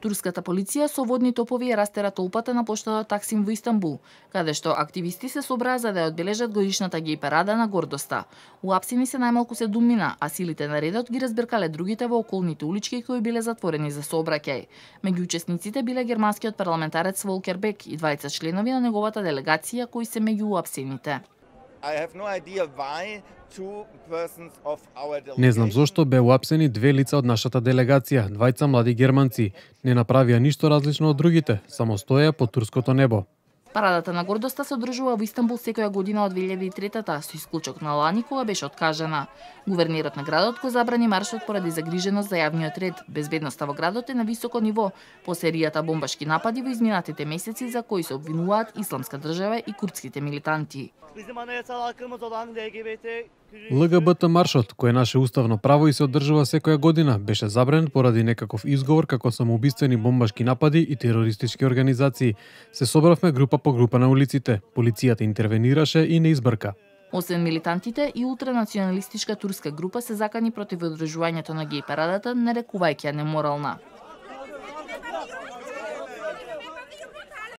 Турската полиција со водни топови ја растера толпата на поштата Таксим во Истанбул, каде што активисти се собраа за да ја одбележат годишната геј парада на гордоста. Уапсени се најмалку 7 мина, а силите на редот ги разбркале другите во околните улички кои биле затворени за сообраќај. Меѓу учесниците биле германскиот парламентарец Волкер Бек и двајца членови на неговата делегација кои се меѓу уапсените. Не знам зошто беа уапсени две лица од нашата делегација, двајца млади германци. Не направија ништо различно од другите, само стоеа под турското небо. Парадата на гордоста се одржува во Истанбул секоја година од 2003-та, со исклучок на лани кога беше откажана. Гувернерот на градот го забрани маршот поради загриженост за јавниот ред. Безбедноста во градот е на високо ниво по серијата бомбашки напади во изминатите месеци за кои се обвинуваат Исламска држава и курдските милитанти. ЛГБТ маршот, кој е наше уставно право и се одржува секоја година, беше забранет поради некаков изговор како самоубиствени бомбашки напади и терористички организации. Се собравме група по група на улиците. Полицијата интервенираше и не избрка. Освен милитантите, и ултранационалистичка турска група се закани против одржувањето на геј парадата, нарекувајќи ја неморална.